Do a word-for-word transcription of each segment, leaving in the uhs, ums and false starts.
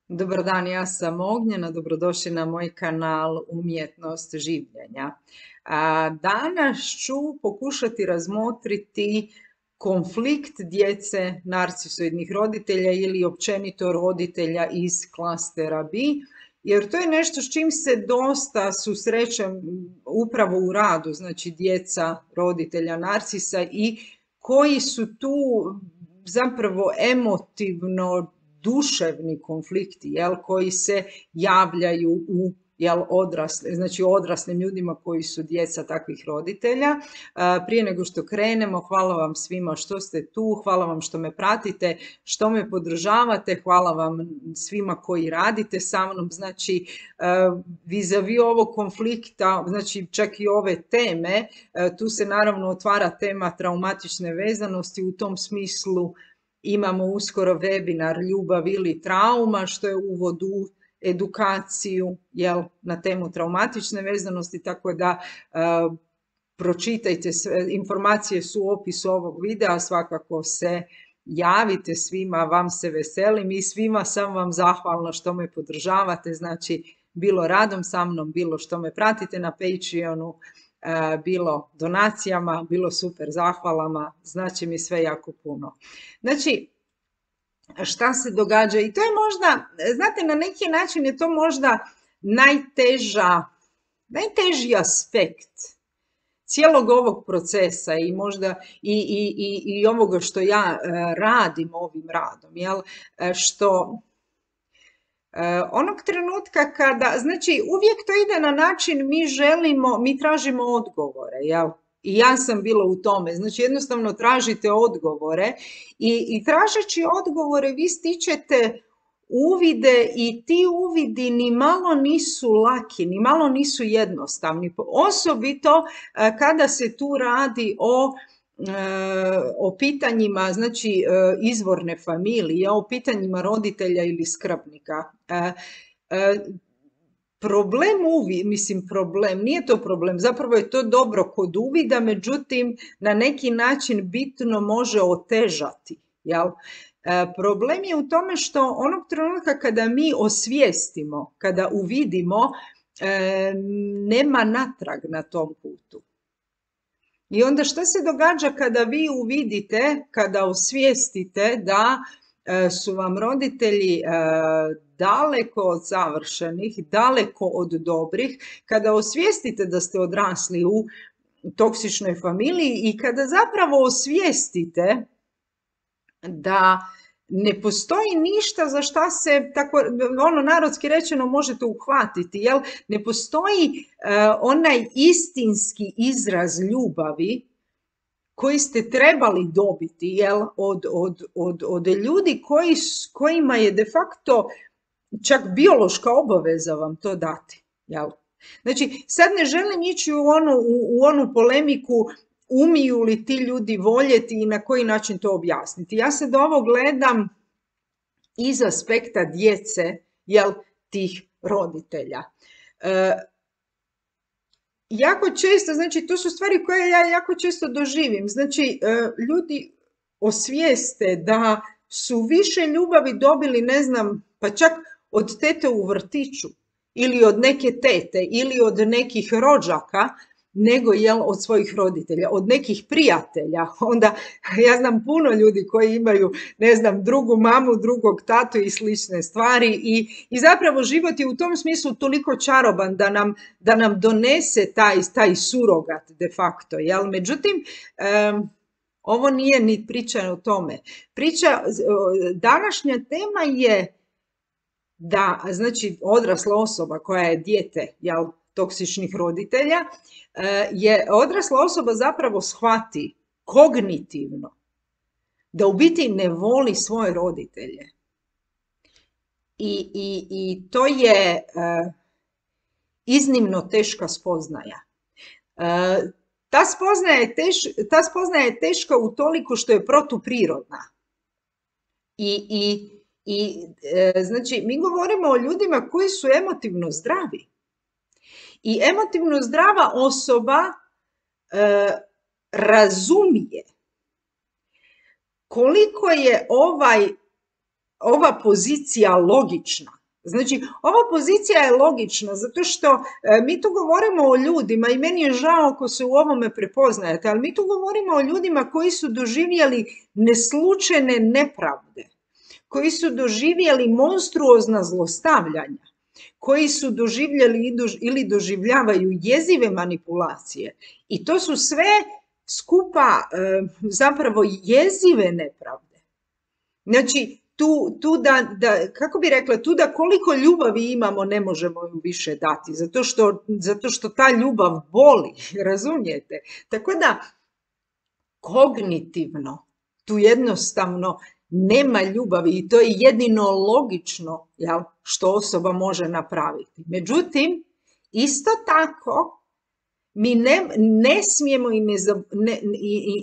Dobar dan, ja sam Ognjena, dobrodošli na moj kanal Umjetnost življenja. A, Danas ću pokušati razmotriti konflikt djece narcisoidnih roditelja ili općenito roditelja iz klastera B, jer to je nešto s čim se dosta susrećem upravo u radu, znači djeca roditelja narcisa i koji su tu zapravo emotivno duševni konflikti, jel, koji se javljaju u jel, odrasle, znači odraslim ljudima koji su djeca takvih roditelja. Prije nego što krenemo, hvala vam svima što ste tu, hvala vam što me pratite, što me podržavate, hvala vam svima koji radite sa mnom, znači vis-a-vis ovog konflikta, znači čak i ove teme, tu se naravno otvara tema traumatične vezanosti, u tom smislu imamo uskoro webinar Ljubav ili trauma, što je uvod u edukaciju jel, na temu traumatične vezanosti, tako da uh, pročitajte sve, informacije su u opisu ovog videa, svakako se javite svima, vam se veselim i svima sam vam zahvalna što me podržavate, znači bilo radom sa mnom, bilo što me pratite na Patreonu, bilo donacijama, bilo super zahvalama, znači mi sve jako puno. Znači, šta se događa? I to je možda, znate, na neki način je to možda najteža, najteži aspekt cijelog ovog procesa i možda i, i, i, i ovoga što ja radim ovim radom, jel? Što onog trenutka kada, znači uvijek to ide na način mi želimo, mi tražimo odgovore, jel? I ja sam bila u tome, znači jednostavno tražite odgovore i, i tražeći odgovore vi stičete uvide i ti uvidi ni malo nisu laki, ni malo nisu jednostavni, osobito kada se tu radi o o pitanjima, znači izvorne familije, o pitanjima roditelja ili skrbnika. Problem uvi, mislim problem, nije to problem, zapravo je to dobro kod uvida, međutim na neki način bitno može otežati, jel? Problem je u tome što onog trenutka kada mi osvijestimo, kada uvidimo, nema natrag na tom putu. I onda što se događa kada vi uvidite, kada osvijestite da su vam roditelji daleko od savršenih, daleko od dobrih, kada osvijestite da ste odrasli u toksičnoj familiji i kada zapravo osvijestite da ne postoji ništa za šta se, tako ono narodski rečeno, možete uhvatiti, jel? Ne postoji uh, onaj istinski izraz ljubavi koji ste trebali dobiti, jel? Od, od, od, od ljudi koji, kojima je de facto čak biološka obaveza vam to dati, jel? Znači, sad ne želim ići u onu, u, u onu polemiku umiju li ti ljudi voljeti i na koji način to objasniti. Ja se do ovo gledam iz aspekta djece, jel, tih roditelja. E, jako često, znači to su stvari koje ja jako često doživim, znači e, ljudi osvijeste da su više ljubavi dobili, ne znam, pa čak od tete u vrtiću ili od neke tete ili od nekih rođaka, nego jel, od svojih roditelja, od nekih prijatelja. Onda ja znam puno ljudi koji imaju, ne znam, drugu mamu, drugog tatu i slične stvari i, i zapravo život je u tom smislu toliko čaroban da nam, da nam donese taj, taj surogat de facto. Jel? Međutim, um, ovo nije ni priča o tome. Priča, današnja tema je da, znači, odrasla osoba koja je dijete, jel, toksičnih roditelja, je odrasla osoba zapravo shvati kognitivno da u biti ne voli svoje roditelje. I, i, i to je uh, iznimno teška spoznaja. Uh, ta, spoznaja je teš, ta spoznaja je teška utoliko što je protuprirodna. I, i, i uh, znači, mi govorimo o ljudima koji su emotivno zdravi. I emotivno zdrava osoba e, razumije koliko je ovaj ova pozicija logična. Znači, ova pozicija je logična zato što e, mi tu govorimo o ljudima i meni je žao ako se u ovome prepoznajete, ali mi tu govorimo o ljudima koji su doživjeli neslučajne nepravde, koji su doživjeli monstruozna zlostavljanja, koji su doživjeli ili doživljavaju jezive manipulacije. I to su sve skupa e, zapravo jezive nepravde. Znači, tu, tu da, da, kako bi rekla, tu da koliko ljubavi imamo ne možemo ju više dati, zato što, zato što ta ljubav boli, razumijete? Tako da, kognitivno, tu jednostavno nema ljubavi i to je jedino logično, jel, što osoba može napraviti. Međutim, isto tako, mi ne, ne smijemo i ne, ne,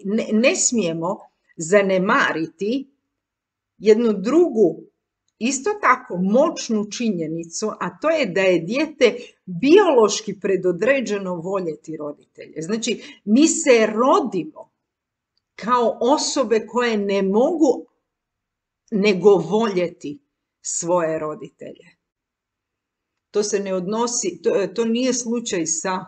ne, ne smijemo zanemariti jednu drugu, isto tako moćnu činjenicu, a to je da je dijete biološki predodređeno voljeti roditelje. Znači, mi se rodimo kao osobe koje ne mogu nego voljeti svoje roditelje. To se ne odnosi, to, to nije slučaj sa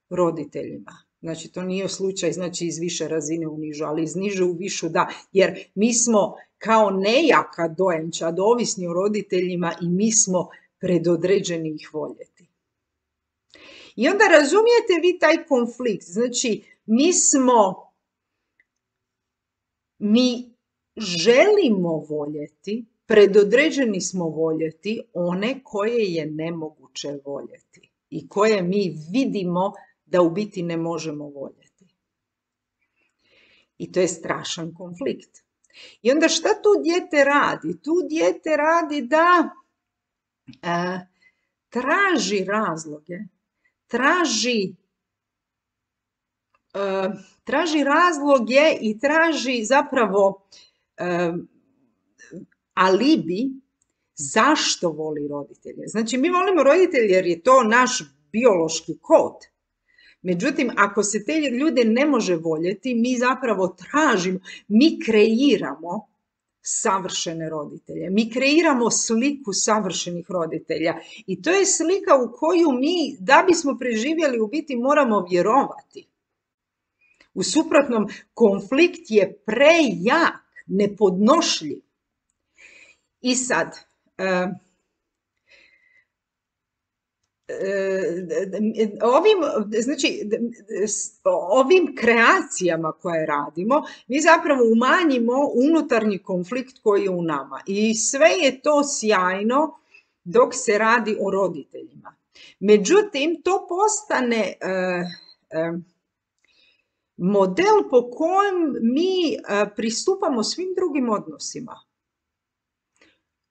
roditeljima. Znači, to nije slučaj, znači, iz više razine u nižu, ali iz niže u višu da, jer mi smo kao nejaka dojenčad ovisni o roditeljima i mi smo predodređeni ih voljeti. I onda razumijete vi taj konflikt, znači, mi smo, mi želimo voljeti, predodređeni smo voljeti one koje je nemoguće voljeti i koje mi vidimo da u biti ne možemo voljeti. I to je strašan konflikt. I onda šta tu dijete radi? Tu dijete radi da e, traži razloge, traži, e, traži razloge i traži zapravo e, alibi zašto voli roditelje. Znači, mi volimo roditelje jer je to naš biološki kod. Međutim, ako se te ljude ne može voljeti, mi zapravo tražimo, mi kreiramo savršene roditelje. Mi kreiramo sliku savršenih roditelja. I to je slika u koju mi, da bismo preživjeli, u biti moramo vjerovati. U suprotnom, konflikt je prejak, nepodnošljiv. I sad, uh, Ovim, znači, ovim kreacijama koje radimo, mi zapravo umanjimo unutarnji konflikt koji je u nama. I sve je to sjajno dok se radi o roditeljima. Međutim, to postane uh, uh, model po kojem mi uh, pristupamo svim drugim odnosima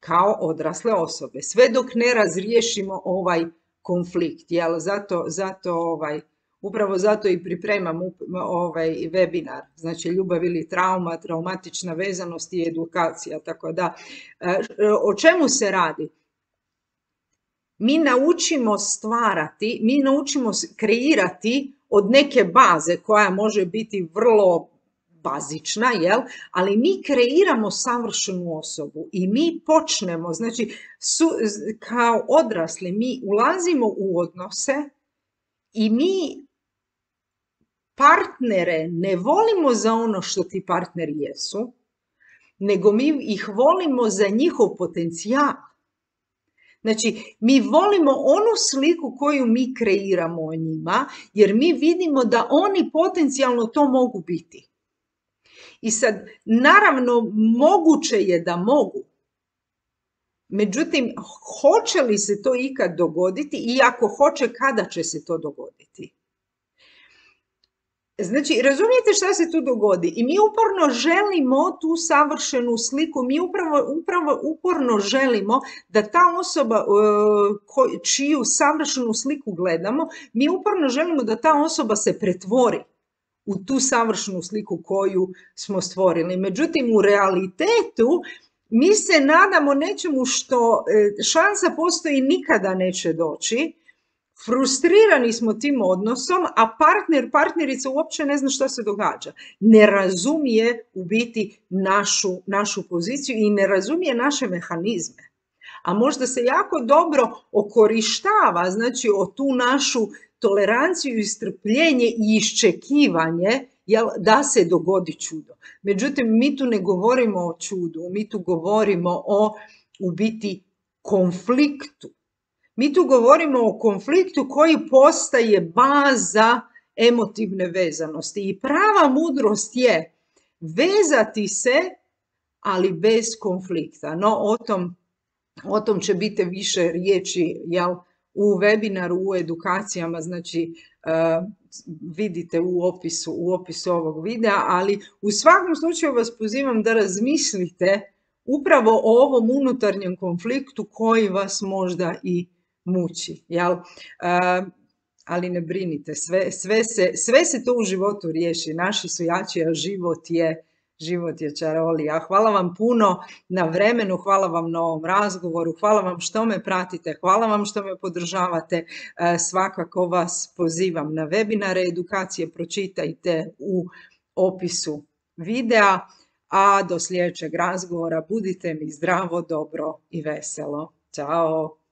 kao odrasle osobe, sve dok ne razriješimo ovaj konflikt, jel? Zato, zato ovaj, upravo zato i pripremam ovaj webinar, znači ljubav ili trauma, traumatična vezanost i edukacija, tako da, o čemu se radi? Mi naučimo stvarati, mi naučimo kreirati od neke baze koja može biti vrlo bazična, jel? Ali mi kreiramo savršenu osobu i mi počnemo, znači su, kao odrasli mi ulazimo u odnose i mi partnere ne volimo za ono što ti partneri jesu, nego mi ih volimo za njihov potencijal. Znači, mi volimo onu sliku koju mi kreiramo o njima, jer mi vidimo da oni potencijalno to mogu biti. I sad, naravno, moguće je da mogu. Međutim, hoće li se to ikad dogoditi i ako hoće, kada će se to dogoditi? Znači, razumijete šta se tu dogodi? I mi uporno želimo tu savršenu sliku, mi upravo, upravo uporno želimo da ta osoba uh, čiju savršenu sliku gledamo, mi uporno želimo da ta osoba se pretvori u tu savršenu sliku koju smo stvorili. Međutim, u realitetu mi se nadamo nečemu što šansa postoji nikada neće doći, Frustrirani smo tim odnosom, a partner, partnerica uopće ne zna što se događa. Ne razumije u biti našu, našu poziciju i ne razumije naše mehanizme. A možda se jako dobro okorištava, znači o tu našu toleranciju i strpljenje i iščekivanje, jel, da se dogodi čudo. Međutim, mi tu ne govorimo o čudu, mi tu govorimo o u biti konfliktu. Mi tu govorimo o konfliktu koji postaje baza emotivne vezanosti. I prava mudrost je vezati se, ali bez konflikta. No, o tom, o tom će biti više riječi, jel, u webinaru, u edukacijama, znači uh, vidite u opisu, u opisu ovog videa, ali u svakom slučaju vas pozivam da razmislite upravo o ovom unutarnjem konfliktu koji vas možda i muči, jel? Uh, ali ne brinite, sve, sve, se, sve se to u životu riješi, naši su jači, a život je, život je čarolija. Hvala vam puno na vremenu, hvala vam na ovom razgovoru, hvala vam što me pratite, hvala vam što me podržavate, uh, svakako vas pozivam na webinare, edukacije, pročitajte u opisu videa, a do sljedećeg razgovora budite mi zdravo, dobro i veselo. Ćao!